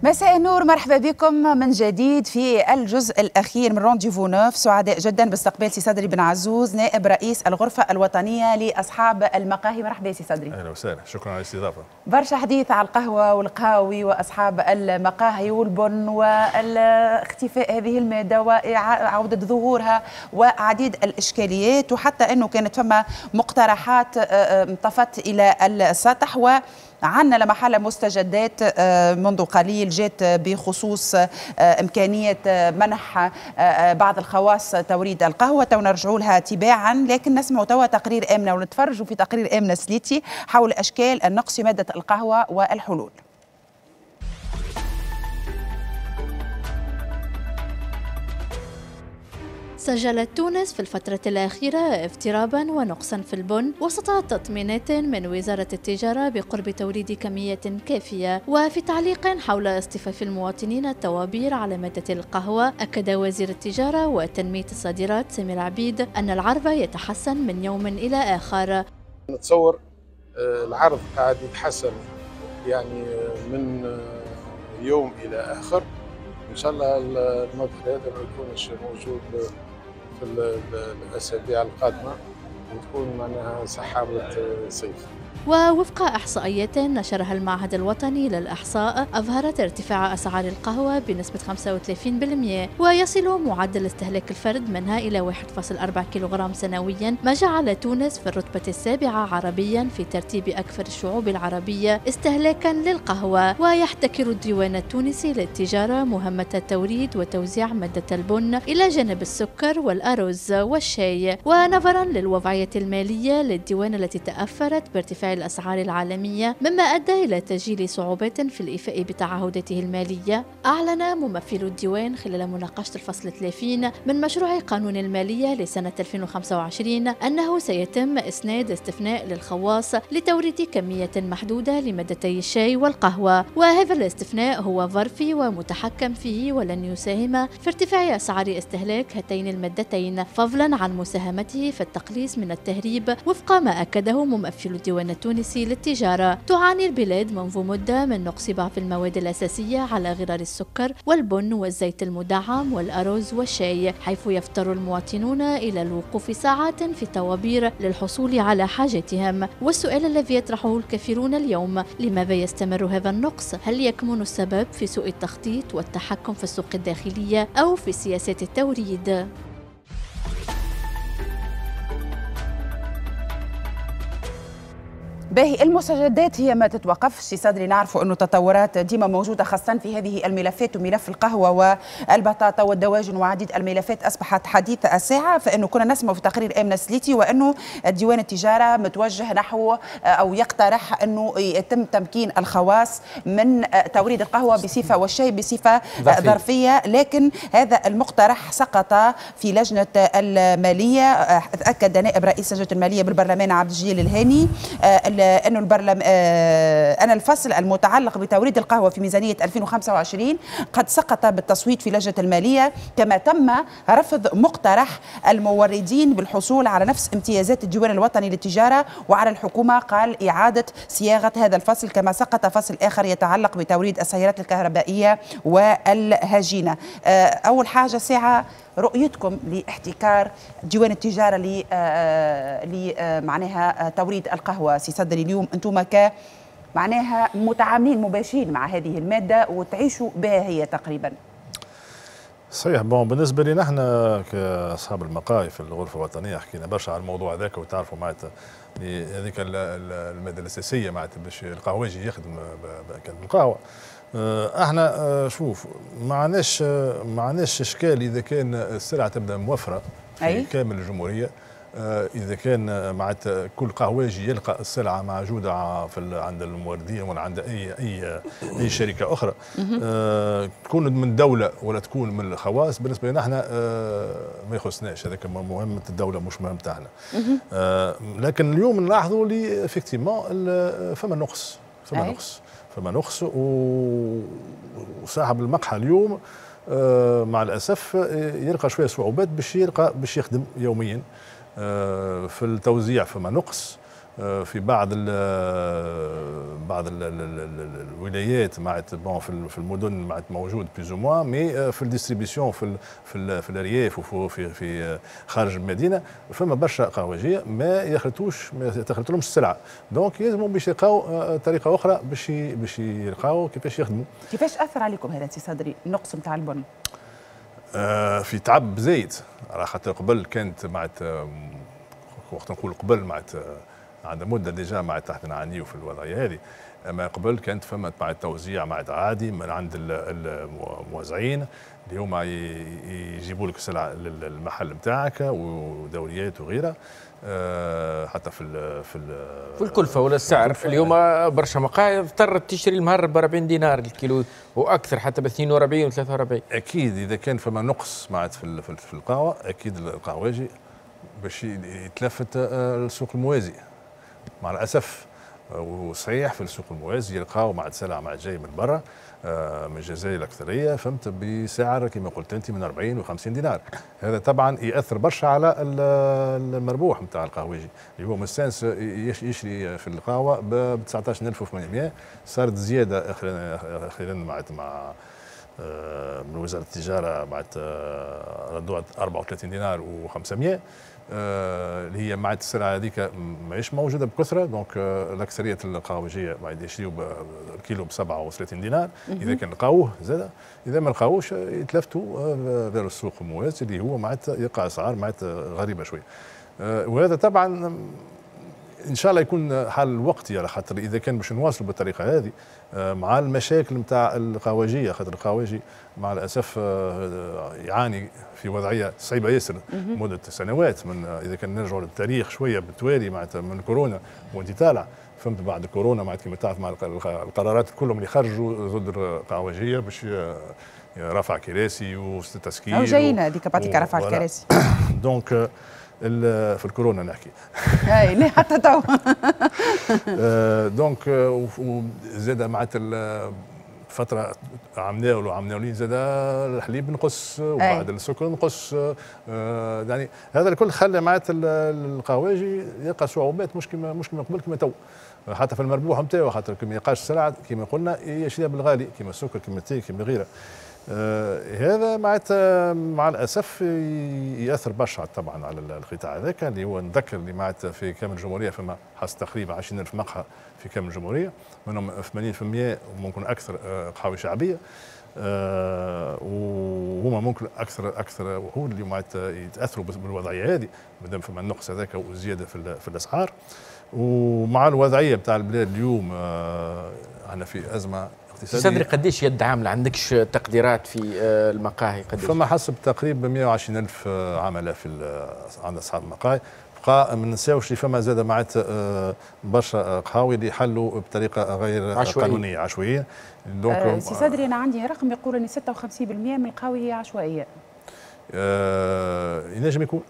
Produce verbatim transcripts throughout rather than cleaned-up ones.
مساء النور، مرحبا بكم من جديد في الجزء الأخير من Rendez-vous neuf. سعداء جدا باستقبال سي صدري بن عزوز، نائب رئيس الغرفة الوطنية لأصحاب المقاهي. مرحبا سي صدري. أهلا وسهلا، شكرا على الاستضافة. برشا حديث على القهوة والقهاوي وأصحاب المقاهي والبن واختفاء هذه المادة وعودة ظهورها وعديد الإشكاليات، وحتى أنه كانت فما مقترحات انطفت إلى السطح، و عندنا لمحلة مستجدات منذ قليل جات بخصوص إمكانية منح بعض الخواص توريد القهوة، تو نرجعوا لها تباعا، لكن نسمع توا تقرير آمنة ونتفرجوا في تقرير آمنة سليتي حول أشكال النقص في مادة القهوة والحلول. سجلت تونس في الفترة الأخيرة اضطرابا ونقصا في البن وسط تطمينات من وزارة التجارة بقرب توريد كمية كافية. وفي تعليق حول اصطفاف المواطنين الطوابير على مادة القهوة، أكد وزير التجارة وتنمية الصادرات سمير عبيد أن العرض يتحسن من يوم إلى آخر. نتصور العرض قاعد يتحسن يعني من يوم إلى آخر، إن شاء الله المظهر هذا ما يكونش موجود في الأسابيع القادمة وتكون معناها سحابة صيف. ووفق إحصائيات نشرها المعهد الوطني للإحصاء، أظهرت ارتفاع أسعار القهوة بنسبة خمسة وثلاثين بالمئة، ويصل معدل استهلاك الفرد منها إلى واحد فاصل أربعة كيلوغرام سنويا، ما جعل تونس في الرتبة السابعة عربيا في ترتيب أكثر الشعوب العربية استهلاكا للقهوة. ويحتكر الديوان التونسي للتجارة مهمة التوريد وتوزيع مادة البن إلى جانب السكر والأرز والشاي. ونظرا للوضعية المالية للديوان التي تأثرت بارتفاع الأسعار العالمية، مما أدى إلى تسجيل صعوبات في الإيفاء بتعهداته المالية، أعلن ممثل الديوان خلال مناقشة الفصل ثلاثين من مشروع قانون المالية لسنة ألفين وخمسة وعشرين أنه سيتم إسناد استثناء للخواص لتوريد كمية محدودة لمادتي الشاي والقهوة، وهذا الاستثناء هو ظرفي ومتحكم فيه ولن يساهم في ارتفاع أسعار استهلاك هاتين المادتين، فضلا عن مساهمته في التقليص من التهريب وفق ما أكده ممثل الديوان التونسي للتجارة. تعاني البلاد منذ مدة من نقص بعض المواد الأساسية على غرار السكر والبن والزيت المدعم والأرز والشاي، حيث يضطر المواطنون إلى الوقوف ساعات في طوابير للحصول على حاجتهم. والسؤال الذي يطرحه الكثيرون اليوم، لماذا يستمر هذا النقص؟ هل يكمن السبب في سوء التخطيط والتحكم في السوق الداخلية أو في سياسات التوريد؟ باهي، المستجدات هي ما تتوقفش سي صدري، نعرفوا انه التطورات ديما موجودة خاصة في هذه الملفات، وملف القهوة والبطاطا والدواجن وعديد الملفات اصبحت حديث الساعة. فانه كنا نسمع في تقرير امنه سليتي وانه ديوان التجارة متوجه نحو او يقترح انه يتم تمكين الخواص من توريد القهوة بصفة والشاي بصفة ظرفيه، لكن هذا المقترح سقط في لجنة المالية. اكد نائب رئيس لجنة المالية بالبرلمان عبد الجليل الهاني أن البرلم أن الفصل المتعلق بتوريد القهوة في ميزانية ألفين وخمسة وعشرين قد سقط بالتصويت في لجنة المالية، كما تم رفض مقترح الموردين بالحصول على نفس امتيازات الديوان الوطني للتجارة، وعلى الحكومة قال إعادة صياغة هذا الفصل، كما سقط فصل آخر يتعلق بتوريد السيارات الكهربائية والهجينة. أول حاجة ساعة رؤيتكم لاحتكار ديوان التجارة ل معناها توريد القهوة سي صدري، اليوم أنتم ك معناها متعاملين مباشرين مع هذه المادة وتعيشوا بها هي تقريبا. صحيح. bon بالنسبة لنا احنا كأصحاب المقاهي في الغرفة الوطنية حكينا برشا على الموضوع هذاك، وتعرفوا معناتها هذيك المادة الأساسية معناتها باش القهوجي يخدم القهوة. احنا شوف ما عندناش ما عندناش اشكال اذا كان السلعة تبدا موفره في أي؟ كامل الجمهورية، اذا كان معناتها كل قهوجي يلقى السلعة موجودة في عند الموردين ولا عند اي اي اي شركة اخرى، أه تكون من دولة ولا تكون من الخواص، بالنسبة لنا احنا أه ما يخصناش، هذاك مهمة الدولة مش مهمتنا احنا. أه لكن اليوم نلاحظوا لي effectivement فما نقص، فما نقص فما نقص، وصاحب المقهى اليوم مع الاسف يلقى شوية صعوبات باش يلقى باش يخدم يوميا في التوزيع، فما نقص. في بعض ال بعض ال الولايات معناتها bon في المدن معناتها موجود plus ou moins، mais في ال distribution في ال في, ال في الارياف وفي في خارج المدينة فما برشا قهوجيه ما يخلطوش، ما تخلطلهمش السلعه، donc يلزموا باش يلقاو طريقه اخرى باش باش يلقاو كيفاش يخدموا. كيفاش اثر عليكم هذا سي صدري النقص نتاع البن؟ آه في تعب زايد، على خاطر قبل كانت معناتها وقت نقول قبل معناتها عندنا مده déjà معناتها احنا نعانيو في الوضعية هذه، اما قبل كانت فما مع التوزيع مع عادي من عند الموزعين اللي هما يجيبوا لك السلعة للمحل نتاعك ودوريات وغيرها، حتى في ال في ال في الكلفة ولا السعر. اليوم برشا مقاهي اضطرت تشتري المهرب ب أربعين دينار الكيلو واكثر، حتى ب اثنين وأربعين و ثلاثة وأربعين. اكيد اذا كان فما نقص معناتها في في القهوة اكيد القهوجي باش يتلفت للسوق الموازي مع الاسف. وصحيح في السوق الموازي يلقاو مع سلع مع جاي من برا من الجزائر الاكثرية، فهمت، بسعر كما قلت انت من أربعين وخمسين دينار. هذا طبعا ياثر برشا على المربوح نتاع القهوجي اللي هو مستانس يشري في القهوة ب تسعطاش ألف وثمانمئة. صارت زيادة اخيرا مع مع من وزارة التجارة بعد ردوها أربعة وثلاثين دينار وخمسمئة، اللي هي مع السلعة هذيك ماهيش موجودة بكثرة، donc الاكثرية القهوجيه بعد يشريوا الكيلو ب سبعة وثلاثين دينار اذا كان لقاوه زاد، اذا ما لقاوش يتلفتوا vers السوق الموازي اللي هو معناتها يقع اسعار معناتها غريبة شوية. وهذا طبعا ان شاء الله يكون حل وقتي، على خاطر اذا كان باش نواصلوا بالطريقة هذه مع المشاكل نتاع القهوجيه، خاطر القهوجي مع الاسف يعاني في وضعية صعيبة ياسر مده سنوات، من اذا كان نرجعوا للتاريخ شوية بالتوالي معناتها من كورونا وانت طالع، فهمت، بعد كورونا معناتها كما تعرف مع القرارات كلهم اللي خرجوا ضد القهوجيه باش رفع كراسي وتسكير، او جايين هذيك بعطيك رفع الكراسي donc في الكورونا نحكي اي لا حتى تو donc زاد معناتها فترة عمناول وعمناولين زاد الحليب نقص وبعد السكر نقص، يعني هذا الكل خلى معناتها القهواجي يلقى صعوبات مش كما مش كما قبل كما تو، حتى في المربوح نتاعو، خاطر كي ما يلقاش السلعة كما قلنا يشريها بالغالي كما السكر كما التاي كما غيره. آه هذا معناتها مع الاسف ياثر برشا طبعا على القطاع هذاك اللي هو نذكر اللي معناتها في كامل الجمهورية فما حسب تقريبا عشرين ألف مقهى في كامل الجمهورية، منهم ثمانين بالمئة وممكن اكثر قهاوي شعبية، آه وهما ممكن اكثر اكثر وحود اللي معناتها يتاثروا بالوضعيه هذه مادام فما النقص هذاك وزيادة في, في الاسعار. ومع الوضعية بتاع البلاد اليوم آه احنا في ازمة صدري. قديش يد عامله؟ عندكش تقديرات في المقاهي قديش؟ فما حسب تقريبا مئة وعشرين ألف عمله في عند اصحاب المقاهي. بقى ما ننساوش اللي فما زاد معناتها برشا قهاوي اللي حلوا بطريقة غير عشوائية. قانونية عشوائية. donc أه سي صدري انا عندي رقم يقول ان ستة وخمسين بالمئة من القهاوي هي عشوائية. أه ينجم يكون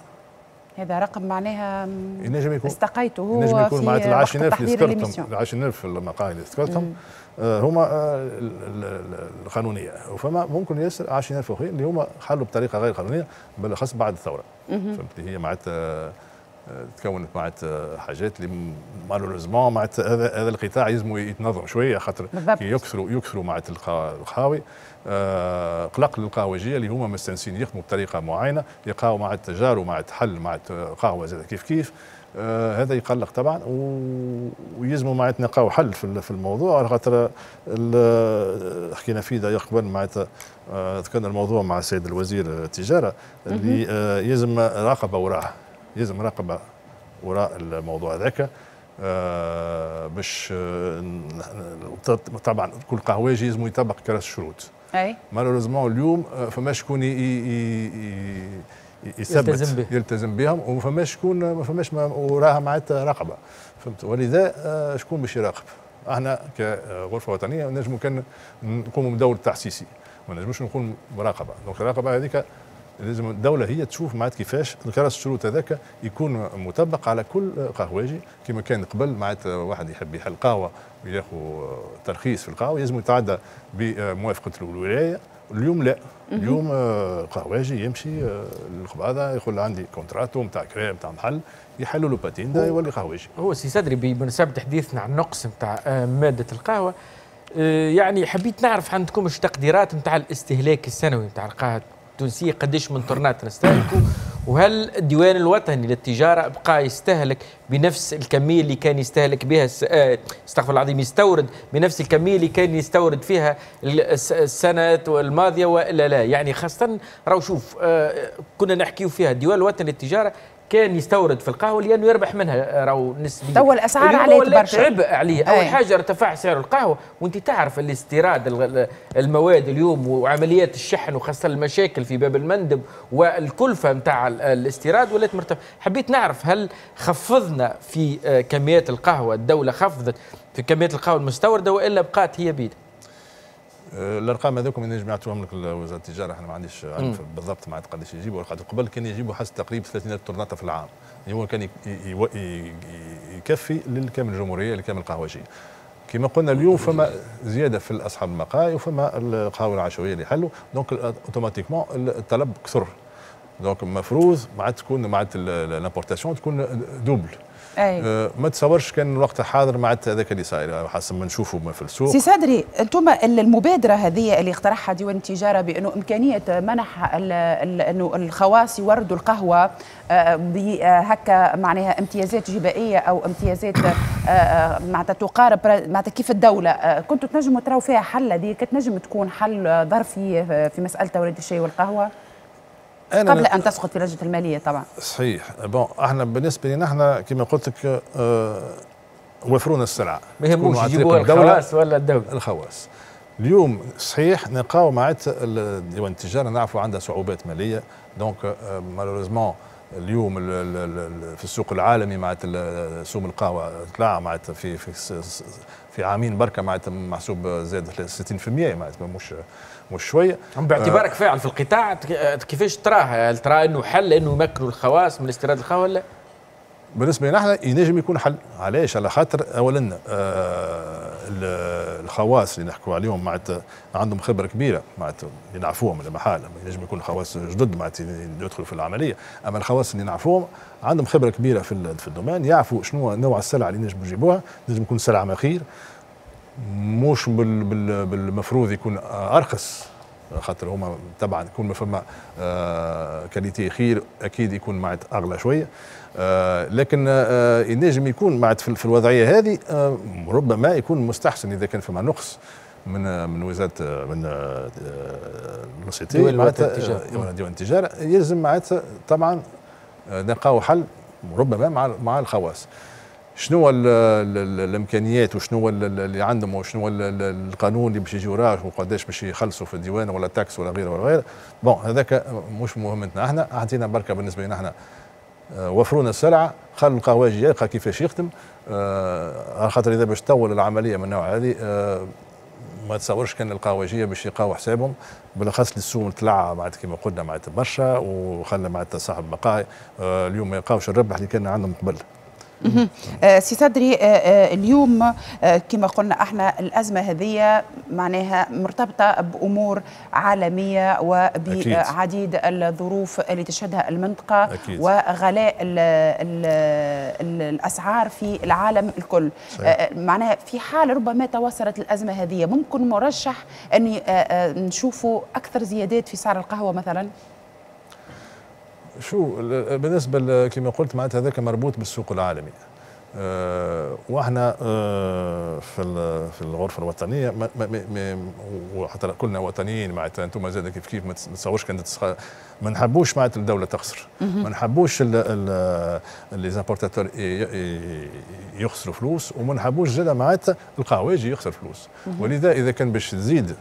هذا رقم معناها ينجم يكون استقيته هو ينجم يكون معناتها في ال عشرين ألف اللي ذكرتهم، l'émission. ال عشرين ألف المقاهي اللي ذكرتهم هما القانونية، وفما ممكن ياسر عشرين ألف اخرين اللي هما حلوا بطريقة غير قانونية بالاخص بعد الثورة. فهمت، هي معناتها تكونت معناتها حاجات اللي malheureusement معناتها هذا هذا القطاع يلزم يتنظم شوية، خاطر كي يكثروا يكثروا معناتها القهاوي آه قلق للقهوجيه اللي هما مستانسين يخدموا بطريقة معينة، يلقاو مع التجار ومع الحل مع قهوة زاد كيف كيف، آه هذا يقلق طبعا، ويلزموا معناتها نلقاو حل في في الموضوع، على خاطر حكينا فيه d'ailleurs قبل معناتها آه ذكرنا الموضوع مع السيد الوزير التجارة اللي آه يلزم رقابه وراه، يلزم رقابه وراء الموضوع هذاك آه باش آه طبعا كل قهوجي لازم يطبق كراس الشروط. اي malheureusement اليوم فما شكون يثبت يلتزم, به. يلتزم بهم، وما شكون ما فماش وراها معناتها رقبة، فهمت؟ ولذا آه شكون باش يراقب؟ احنا كغرفه وطنية نجموا كان نقوموا بدور تحسيسي، ما نجموش نقوم مراقبة، donc الرقابة هذيك لازم الدولة هي تشوف معناتها كيفاش كراس الشروط هذاك يكون مطبق على كل قهوجي. كما كان قبل معناتها واحد يحب يحل قهوة وياخذ ترخيص في القهوة لازم يتعدى بموافقة الولاية. اليوم لا، اليوم قهواجي يمشي للقباضه يقول عندي contrat نتاع كرا نتاع محل، يحلوا له patente يولي قهواجي. هو سي صدري بمناسبة حديثنا عن النقص نتاع مادة القهوة، يعني حبيت نعرف عندكم ايش تقديرات نتاع الاستهلاك السنوي نتاع القهوة التونسية، قديش من طرنات نستهلكوا، وهل الديوان الوطني للتجارة بقى يستهلك بنفس الكمية اللي كان يستهلك بها، استغفر الله العظيم، يستورد بنفس الكمية اللي كان يستورد فيها السنة الماضية والا لا؟ يعني خاصة راهو شوف كنا نحكيو فيها الديوان الوطني للتجارة كان يستورد في القهوة لانه يربح منها راهو نسبيا. توا الاسعار عليه برشا، عبء عليه. اول حاجة ارتفع سعر القهوة، وانت تعرف الاستيراد المواد اليوم وعمليات الشحن وخاصة المشاكل في باب المندب والكلفه نتاع الاستيراد ولات مرتفعة. حبيت نعرف هل خفضنا في كميات القهوة، الدولة خفضت في كميات القهوة المستورده والا بقات هي بيد؟ الارقام هذوك نجم يعطوهم لك وزارة التجارة، احنا ما عنديش عارف بالضبط معناتها قداش يجيبوا. قبل كان يجيبوا حسب تقريبا ثلاثين ألف طرناطه في العام، يعني هو كان يكفي للكامل الجمهورية لكامل القهوجيه. كما قلنا اليوم فما زيادة في اصحاب المقاهي وفما القهوة العشوائية اللي حلوا، donc automatiquement الطلب كثر، donc المفروض معناتها تكون معناتها l'importation تكون double. أي. أه ما تصورش كان الوقت حاضر معناتها هذاك اللي صاير حسب ما نشوفوا في السوق. سي صدري، انتم المبادرة هذه اللي اقترحها ديوان التجارة بانه امكانية منح انه الخواص يوردوا القهوة بهكا معناها امتيازات جبائيه او امتيازات معناتها تقارب معناتها كيف الدولة، كنتوا تنجموا تراو فيها حل؟ هذه كتنجم تكون حل ظرفي في مسالة توريد الشاي والقهوة قبل ان تسقط في لجنة المالية طبعا. صحيح. bon احنا بالنسبة لنا احنا كما قلت لك اه وفرونا السلعة، ما يهموش يجيبوها الخواص ولا الدولة. الخواص اليوم صحيح نلقاو معناتها ديوان التجارة نعرفوا عندها صعوبات ماليه، donc malheureusement اليوم في السوق العالمي معناتها سوم القهوة طلع معناتها في في في عامين بركة معناتها محسوب زاد ستين بالمئة معناتها مش مش شوية. باعتبارك فاعل في القطاع كيفاش تراه؟ هل ترى انه حل انه يمكنوا الخواص من استيراد القهوة ولا؟ بالنسبة لنا احنا ينجم يكون حل. علاش؟ على خاطر اولا آه الخواص اللي نحكوا عليهم معناتها عندهم خبره كبيرة معناتها اللي نعرفوهم المحال، ينجم يكون خواص جدد معناتها يدخلوا في العملية، اما الخواص اللي نعرفوهم عندهم خبره كبيرة في في ال domaine، يعرفوا شنو نوع السلعة اللي نجموا يجيبوها، نجم يكون سلعه ما خير، مش بال بال بالمفروض يكون ارخص، خاطر هما طبعا يكون ما فما آه qualité خير اكيد يكون معناتها اغلى شوية، آه لكن آه ينجم يكون معناتها في الوضعية هذه آه ربما يكون مستحسن اذا كان فما نقص من من وزارة من l'OCT معناتها ديوان التجارة، يلزم معناتها طبعا نلقاو حل ربما مع مع الخواص. شنو الامكانيات وشنو اللي عندهم وشنو القانون اللي باش يجي وراه وقداش باش يخلصوا في الديوان ولا taxe ولا غيره ولا غيره. bon هذاك مش مهمتنا احنا، اعطينا بركة بالنسبة لنا احنا وفرونا السلعة، خلوا القهواجي يلقى كيفاش يخدم، على خاطر اذا باش تطول العملية من النوع هذه ما تصورش كان القهوجيه باش يلقاو حسابهم، بالاخص للسوق طلع معناتها كما قلنا معناتها برشا وخلى معناتها صاحب المقاهي اليوم ما يلقاوش الربح اللي كان عندهم قبل. سي صدري، اليوم كما قلنا احنا الازمة هذه معناها مرتبطة بامور عالمية وبعديد الظروف اللي تشهدها المنطقة. أكيد. وغلاء ال ال ال الاسعار في العالم الكل. صحيح. معناها في حال ربما تواصلت الازمة هذه ممكن مرشح ان نشوفوا اكثر زيادات في سعر القهوة مثلا؟ شو بالنسبة كما قلت معناتها هذاك مربوط بالسوق العالمي، أه واحنا أه في في الغرفة الوطنية ما ما ما وحتى كلنا وطنيين معناتها انتم زاد كيف كيف ما تصورش كان ما نحبوش معناتها الدولة تخسر، ما نحبوش les importateurs يخسروا فلوس، وما نحبوش زاد معناتها القهواجي يخسر فلوس. ولذا اذا كان باش تزيد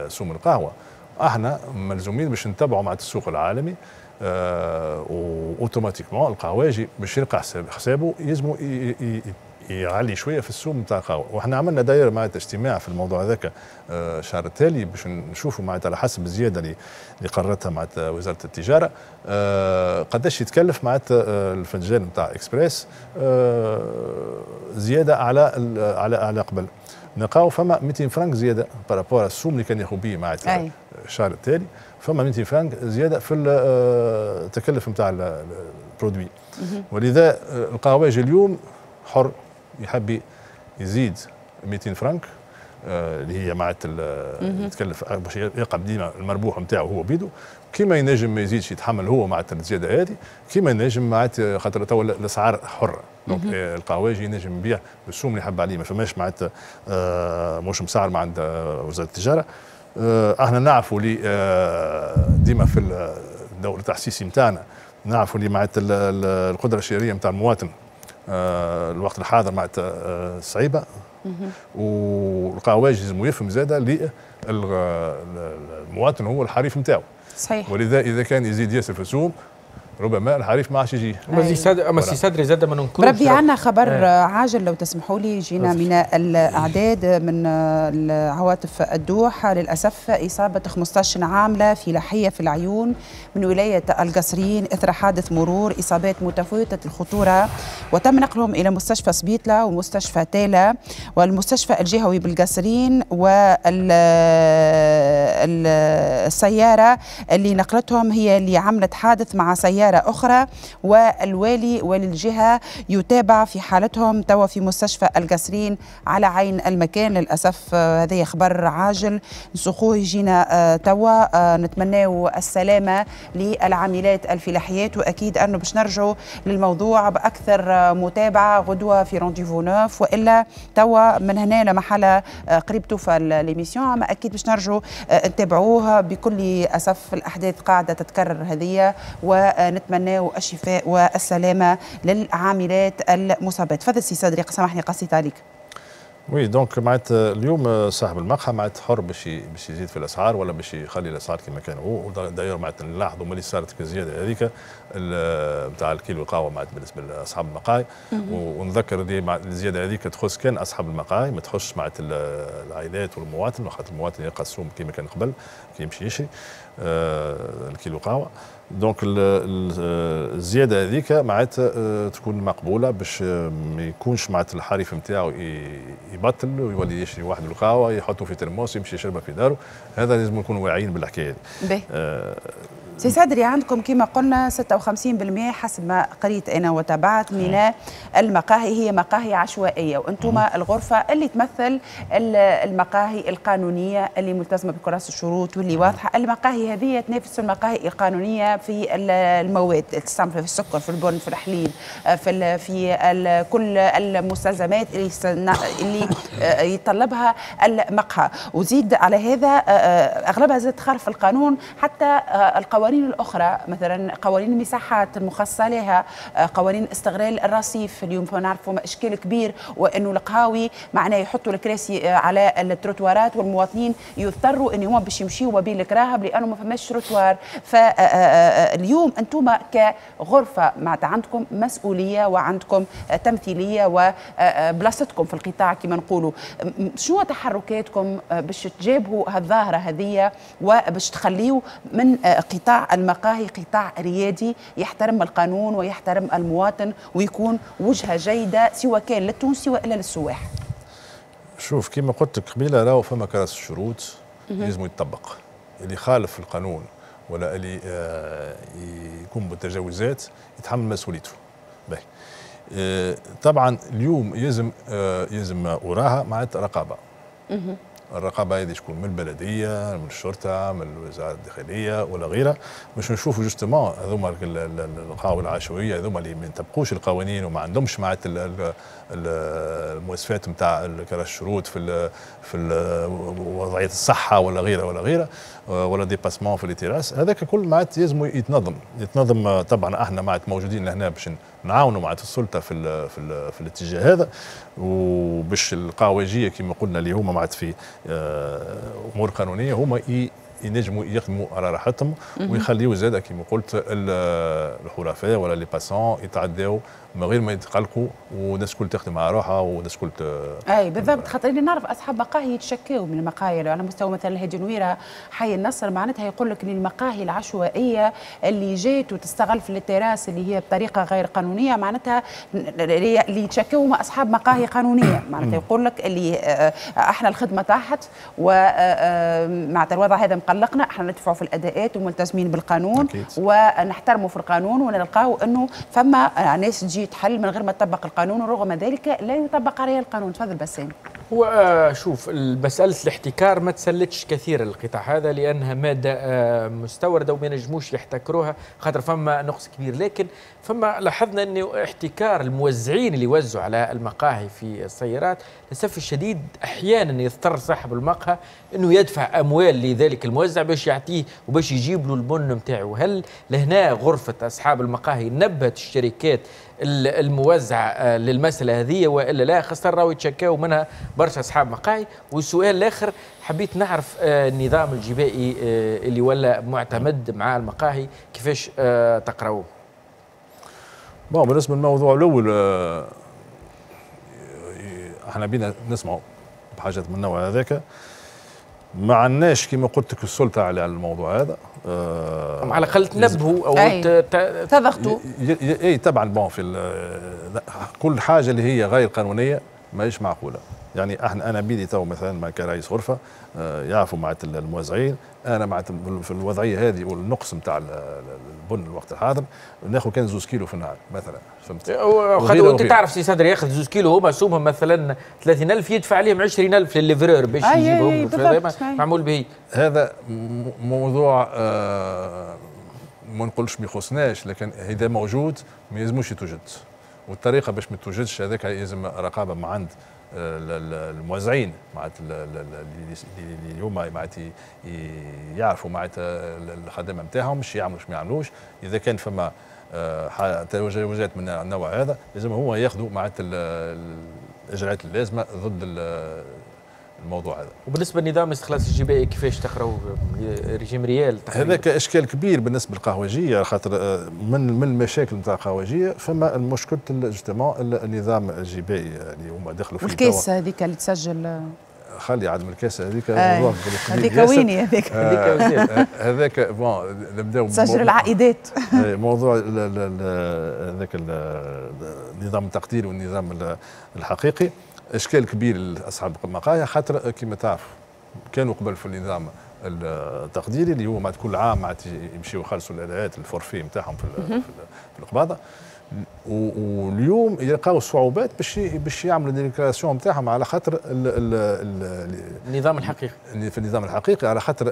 سوم القهوة احنا ملزومين باش نتبعوا معناتها السوق العالمي، آه و automatiquement القهواجي باش يلقى حسابه يلزمو يعلي شوية في السوم نتاع القهوه. وحنا عملنا داير معناتها اجتماع في الموضوع هذاك الشهر التالي باش نشوفوا معناتها على حسب الزيادة اللي اللي قررتها معناتها وزارة التجارة قداش يتكلف معناتها الفنجان نتاع اكسبريس زيادة على على على قبل. نلقاو فما مئتين فرنك زيادة par rapport السوم اللي كان ياخذ به معناتها الشهر التالي، فما مئتين فرنك زيادة في التكلف نتاع ال produit. ولذا القهواجي اليوم حر، يحب يزيد مئتين فرنك اللي هي معناتها يتكلف باش يقعد ديما المربوح نتاعو هو بيدو، كيما ينجم ما يزيدش يتحمل هو معناتها الزيادة هذه، كيما ينجم معناتها خاطر تو الاسعار حره، donc القهواجي ينجم يبيع بالسوم اللي يحب عليه، ما فماش معناتها آه مش مسعر مع عند وزارة التجارة. آه احنا نعرفوا اللي آه ديما في الدور التحسيسي نتاعنا نعرفوا اللي معناتها القدرة الشرائية نتاع المواطن آه الوقت الحاضر معناتها آه صعيبة، والقهواجي لازم يفهم زاده اللي المواطن هو الحريف نتاعو. صحيح. ولذا اذا كان يزيد ياسر في السوم ربما الحريف ما عادش يجي. اما سي صدري زاد ما ننكرش. بربي عندنا خبر آه. عاجل لو تسمحوا لي، جينا من الاعداد من عواطف الدوحة للاسف اصابه خمسطاش عامله في لحية في العيون من ولاية القصرين اثر حادث مرور، اصابات متفاوتة الخطورة، وتم نقلهم الى مستشفى سبيطله ومستشفى تالا والمستشفى الجهوي بالقصرين، والسيارة اللي نقلتهم هي اللي عملت حادث مع سيارة أخرى، والوالي وللجهة يتابع في حالتهم توا في مستشفى القصرين على عين المكان. للأسف هذا خبر عاجل نسخوه يجينا توا. نتمناو السلامة للعاملات الفلاحيات، وأكيد أنه باش نرجعوا للموضوع بأكثر متابعة غدوة في rendez-vous neuf، وإلا توا من هنا لمحلة قريب توفى l'émission، أما أكيد باش نرجعوا نتابعوه. بكل أسف الأحداث قاعدة تتكرر هذه، ونتمنى نتمناو الشفاء والسلامة للعاملات المصابات. تفضل سي صدري، سامحني قصيت عليك. oui donc معناتها اليوم صاحب المقهى معناتها حر باش باش يزيد في الاسعار ولا باش يخلي الاسعار كما كان هو. d'ailleurs معناتها نلاحظوا ملي صارت الزيادة هذيك نتاع الكيلو القهوة معناتها بالنسبة لاصحاب المقاهي، ونذكر دي الزيادة هذيك تخص كان اصحاب المقاهي، ما تخصش معناتها العائلات والمواطن، خاطر المواطن يلقى السوم كما كان قبل كي يمشي يشري الكيلو قهوة. donc الزيادة هذيك معناتها تكون مقبولة باش ما يكونش معناتها الحريف نتاعو يبطل ويولي يشري واحد القهوة يحطه في ترموس يمشي يشربها في داره. هذا لازم نكونوا واعيين بالحكاية هذه. آه سي صدري، عندكم كما قلنا ستة وخمسين بالمئة حسب ما قريت انا وتابعت من المقاهي هي مقاهي عشوائية، وانتم الغرفة اللي تمثل المقاهي القانونية اللي ملتزمة بكراسه الشروط واللي واضحة. المقاهي هذه تنافس المقاهي القانونية في المواد تستعمل في السكر، في البن، في الحليب، في في كل المستلزمات اللي اللي يتطلبها المقهى. وزيد على هذا اغلبها زاد تخالف القانون، حتى القوانين الأخرى مثلا قوانين المساحات المخصصة لها، قوانين استغلال الرصيف. اليوم نعرفوا إشكال كبير، وأنه القهاوي معناه يحطوا الكراسي على التروتوارات والمواطنين يضطروا أن هم باش يمشيوا ما بين الكراهب لأنه ما فماش تروتوار. فاليوم أنتم كغرفة معناتها عندكم مسؤولية وعندكم تمثيلية وبلاصتكم في القطاع كما نقولوا، شنو تحركاتكم باش تجابهوا هالظاهرة هذه وباش تخليوا من قطاع المقاهي قطاع ريادي يحترم القانون ويحترم المواطن ويكون وجهة جيدة سواء كان للتونسي وإلا للسواح؟ شوف كما قلت لك قبيلة، راهو فما كراس الشروط لازم يتطبق. اللي خالف القانون ولا اللي آه يكون بالتجاوزات يتحمل مسؤوليته. باهي. آه طبعا اليوم يلزم آه يلزم وراها معناتها رقابه. الرقابة هذه تكون من البلدية، من الشرطة، من وزارة الداخلية ولا غيرها، باش نشوفوا justement هذوما القهاوي العشوائية هذوما اللي ما يطبقوش القوانين وما عندهمش معناتها المواصفات نتاع كراس الشروط في ال في ال وضعية الصحة ولا غيرها ولا غيرها ولا dépassement في les terrasses. هذاك كل معناتها لازم يتنظم يتنظم. طبعا احنا معناتها موجودين لهنا باش نعاونوا معناتها السلطة في ال في, ال في الاتجاه هذا، وباش القهوجيه كما قلنا اللي هما معناتها في امور قانونية هما ينجموا يخدموا على راحتهم ويخليوا زاده كما قلت الحرفاء ولا les passants يتعداو من غير ما يتقلقوا، والناس الكل تخدم على روحها والناس الكل ت... اي بالضبط، خاطر اللي نعرف اصحاب مقاهي يتشكاو من المقاهي على مستوى مثلا الهادي نويره حي النصر، معناتها يقول لك ان المقاهي العشوائية اللي جات وتستغل في ال terrasses اللي هي بطريقة غير قانونية، معناتها اللي يتشكاو هم اصحاب مقاهي قانونية، معناتها يقول لك اللي احنا الخدمة طاحت ومعناتها الوضع هذا مقلقنا، احنا ندفعوا في الاداءات وملتزمين بالقانون ونحترموا في القانون، ونلقاو انه فما ناس تجي تحل من غير ما تطبق القانون، ورغم ذلك لا يطبق عليها القانون. تفضل بسام. هو شوف، مسألة الاحتكار ما تسلتش كثير القطاع هذا لأنها مادة مستوردة وما ينجموش يحتكروها خاطر فما نقص كبير، لكن فما لاحظنا أنه احتكار الموزعين اللي يوزعوا على المقاهي في السيارات للأسف الشديد أحيانا يضطر صاحب المقهى أنه يدفع أموال لذلك الموزع باش يعطيه وباش يجيب له البن نتاعو. هل لهنا غرفة أصحاب المقاهي نبهت الشركات الموزعة للمسألة هذه وإلا لا؟ خاصة راهو يتشكاو منها برشا أصحاب مقاهي. والسؤال الآخر، حبيت نعرف النظام الجبائي اللي ولا معتمد مع المقاهي كيفاش تقرأوه؟ bon، بالنسبة للموضوع الأول، احنا بينا نسمعوا بحاجات من النوع هذاك، ما عندناش كما قلت لك السلطة على الموضوع هذا. آه على الاقل تنبهوا او تضغطوا. اي طبعا، bon في كل حاجة اللي هي غير قانونية ماهيش معقولة. يعني احنا انا بيدي تو مثلا مع كرئيس غرفة آه يعرفوا مع الموزعين، انا مع في الوضعية هذه والنقص نتاع البن الوقت الحاضر ناخذ كان زوز كيلو في النهار مثلا، فهمت؟ وانت تعرف سي صدري ياخذ زوز كيلو هما سومهم مثلا ثلاثين ألف يدفع عليهم عشرين ألف لل livreur باش يجيبهم، معمول به. هذا موضوع آه ما نقولش ما يخصناش، لكن اذا موجود ما يلزموش يتوجد، والطريقة باش ما توجدش هذاك لازم رقابه مع عند الموزعين، معناتها اللي هما معناتها يعرفوا معناتها الخدمة نتاعهم مش يعملوا ما يعملوش. اذا كان فما تجاوزات من النوع هذا لازم هو ياخذوا معناتها الاجراءات اللازمة ضد الموضوع هذا. وبالنسبة لنظام الاستخلاص الجبائي كيفاش تقراوه régime réel؟ هذاك اشكال كبير بالنسبة للقهوجيه، خاطر من من المشاكل نتاع القهوجيه فما المشكلة justement النظام الجبائي اللي هما دخلوا فيه. والكاسه هذيك اللي تسجل، خلي عدم الكاسه هذيك موضوع هذيك ويني هذيك هذاك bon نبداو تسجل العائدات. موضوع هذاك النظام التقديري والنظام الحقيقي اشكال كبير لاصحاب المقاهي، خاطر كما تعرف كانوا قبل في النظام التقديري اللي هو مع كل عام معناتها يمشيو يخلصوا الاداءات ال forfait نتاعهم في في القباضه، واليوم يلقاو صعوبات باش باش يعملوا déclaration نتاعهم على خاطر النظام الحقيقي، في النظام الحقيقي على خاطر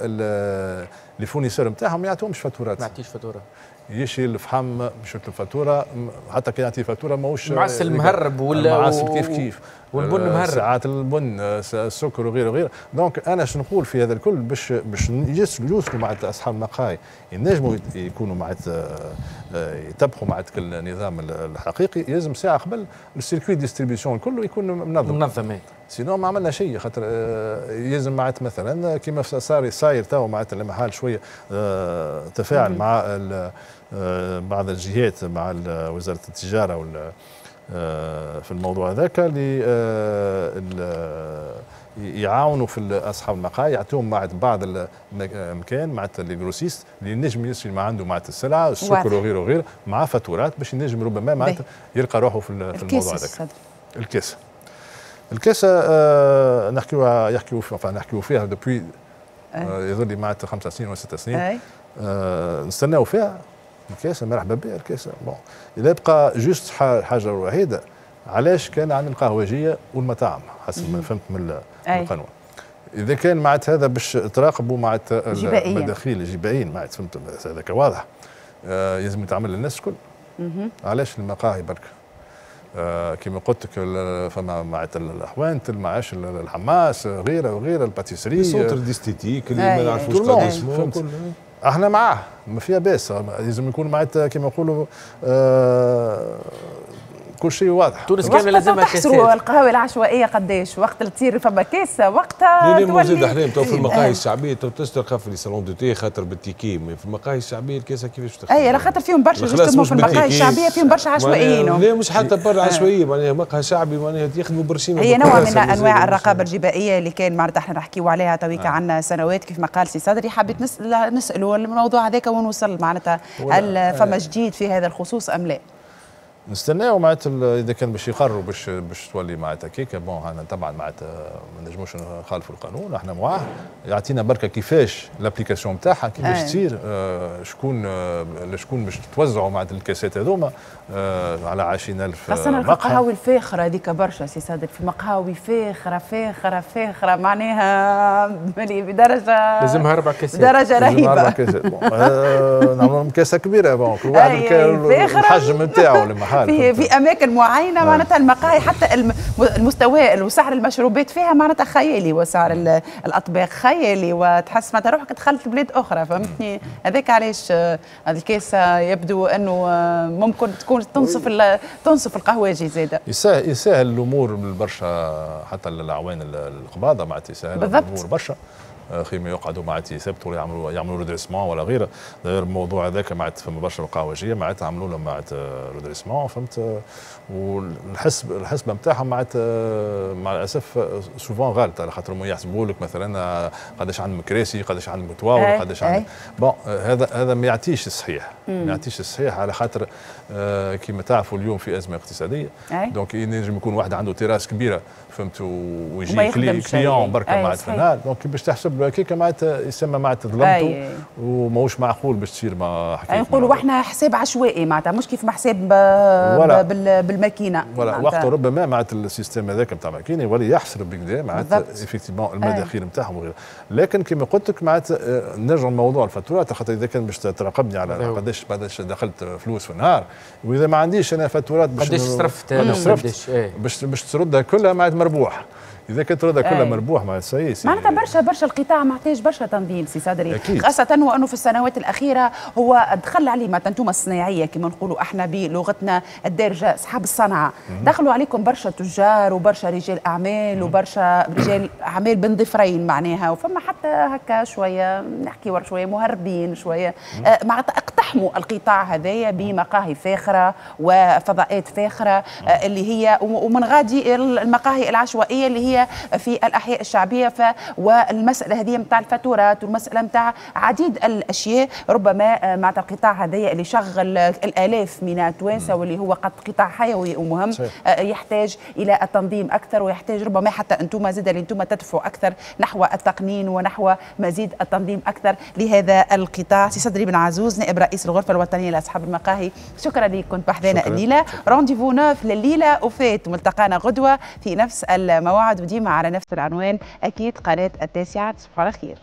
les fournisseurs نتاعهم ما يعطوهمش فاتورات، ما يعطيش فاتورة، يشري الفحم باش يطلب فاتورة، حتى كي يعطي فاتورة ماهوش معسل مهرب ولا معسل كيف كيف والبن مهرب، ساعات البن السكر وغيره وغيره. donc انا شنو نقول في هذا الكل باش باش يوصلوا مع اصحاب المقاهي ينجموا يكونوا مع يتبعوا مع النظام الحقيقي، لازم ساعة قبل ال circuit distribution كله يكون منظم منظم، sinon ما عملنا شيء. خاطر يلزم معناتها مثلا كيما صار صاير تو معناتها المحل شوية تفاعل مع بعض الجهات مع وزارة التجارة وال في الموضوع هذاك اللي يعاونوا في اصحاب المقاهي، يعطوهم مع بعض الامكان مع les grossistes اللي ينجم يشري ما عنده مع السلعة السكر وغيره وغيره مع فاتورات باش ينجم ربما معناتها يلقى روحه في الموضوع هذاك. الكاس الكاسه آه نحكيو يحكيو نحكيو فيها depuis آه يظل لي معناتها خمس سنين ولا ست سنين آه نستناو فيها الكاسه، مرحبا بها الكاسه. bon اذا بقى juste حاجة الوحيدة علاش كان عن القهوجيه والمطاعم حسب ما فهمت من القانون، اذا كان معناتها هذا باش تراقبوا معناتها المداخيل الجبائيين معناتها فهمت هذاك واضح آه لازم يتعمل للناس الكل. علاش المقاهي برك؟ آه كما قلت لك فما معناتها الحوانت المعاش الحماس غيره وغيره ال pâtisserie centre d'esthétique اللي ما نعرفوش قداش احنا معاه ما فيها باس، لازم يكون معناتها كما نقولوا آه كل شيء واضح. تونس كاملة لازمها كاسات. القهوة العشوائية قداش وقت اللي تصير فما كاسه وقتها تولي زاد احلام تو في المقاهي الشعبية تو تلقى في les salons de thé خاطر بال ticket، في المقاهي الشعبية الكاسه كيفاش تخدم؟ اي على خاطر فيهم برشا justement في المقاهي الشعبية فيهم برشا عشوائيين. لا مش حتى برا عشوائية، معناها مقهى شعبي معناها يخدموا برشيمه. هي نوع من انواع الرقابة الجبائيه اللي كان معناتها احنا نحكيو عليها تويكا عندنا سنوات كيف ما قال سي صدري. حبيت نسال نسالوا الموضوع هذاك وين وصل معناتها، هل فما جديد في هذا الخصوص ام لا؟ نستناو معناتها اذا كان باش يقرروا باش باش تولي معناتها كيكة. bon احنا طبعا معناتها ما نجموش نخالفوا القانون، احنا معاه يعطينا بركة كيفاش l'application نتاعها كيفاش تصير، آه شكون آه شكون باش تتوزعوا معناتها الكاسات هذوما آه على عشرين ألف. خاصة القهاوي الفاخرة هذيك برشا سي صادق، في مقهاوي فاخره فاخره فاخره معناها بدرجة لازمها اربع كاسات، درجه رهيبة. اربع كاسات آه نعملوا لهم كاسه كبيرة bon كل واحد الحجم نتاعو لما في في اماكن معينة معناتها المقاهي حتى المستوى وسعر المشروبات فيها معناتها خيالي، وسعر الاطباق خيالي، وتحس معناتها روحك دخلت بلاد اخرى فهمتني. هذاك علاش الكاسه يبدو انه ممكن تكون تنصف تنصف القهواجي زاده. يسهل يسهل الامور برشا حتى الاعوان القباضه معناتها يسهل الامور برشا، خير ما يقعدوا معناتها يثبتوا ولا يعملوا يعملوا redressement ولا غيره. داير الموضوع هذاك معناتها فما برشا القهوجيه معناتها عملوا لهم معناتها redressement فهمت، والحسب الحسبة نتاعهم معناتها مع الاسف souvent غلط، على خاطر يحسبوا لك مثلا قداش عندهم كراسي، قداش عندهم طواول، قداش عندهم bon هذا هذا ما يعطيش الصحيح، ما يعطيش الصحيح على خاطر كيما تعرفوا اليوم في ازمة اقتصادية، donc ينجم يكون واحد عنده تيراس كبيرة فهمت ويجي client بركة معناتها في النهار، donc باش تحسب هكاك معناتها يسمى معناتها ظلمته وماهوش معقول باش تصير ما حكاية. نقولوا احنا حساب عشوائي معناتها مش كيف ما حساب بالماكينه. voilà وقت ربما معناتها ال système هذاك نتاع الماكينة يولي يحسب بكدا معناتها effectivement المداخيل نتاعهم وغيره، لكن كما قلت لك معناتها نرجع لموضوع الفاتورات، خاطر اذا كان باش تراقبني على قداش قداش دخلت فلوس في النهار، واذا ما عنديش انا فاتورات باش قداش صرفت قداش باش باش تردها كلها معناتها مربوح. اذا كانت تردها كلها مربوح مع السياسي معناتها برشا برشا القطاع محتاج برشا تنظيم سي صدري، خاصة وانه في السنوات الاخيرة هو دخل عليه معناتها انتم الصناعية كما نقولوا احنا بلغتنا الدارجة اصحاب الصنعة، دخلوا عليكم برشا تجار وبرشا رجال اعمال وبرشا رجال اعمال بين ظفرين معناها، وفما حتى هكا شوية نحكي شوية مهربين شوية آه معناتها اقتحموا القطاع هذايا بمقاهي فاخره وفضاءات فاخره آه اللي هي ومن غادي المقاهي العشوائية اللي هي في الأحياء الشعبية. ف والمسألة هذه نتاع الفاتورات والمسألة نتاع عديد الأشياء ربما مع القطاع هذايا اللي شغل الآلاف من التوانسة واللي هو قد قطاع حيوي ومهم يحتاج إلى التنظيم أكثر، ويحتاج ربما حتى أنتم زاد اللي أنتم تدفعوا أكثر نحو التقنين ونحو مزيد التنظيم أكثر لهذا القطاع. سي صدري بن عزوز نائب رئيس الغرفة الوطنية لأصحاب المقاهي، شكرا لك كنت بحذانا الليلة. rendez-vous neuf لليلة وفات، ملتقانا غدوة في نفس الموعد وديما على نفس العنوان أكيد قناة التاسعة. تصبحوا على خير.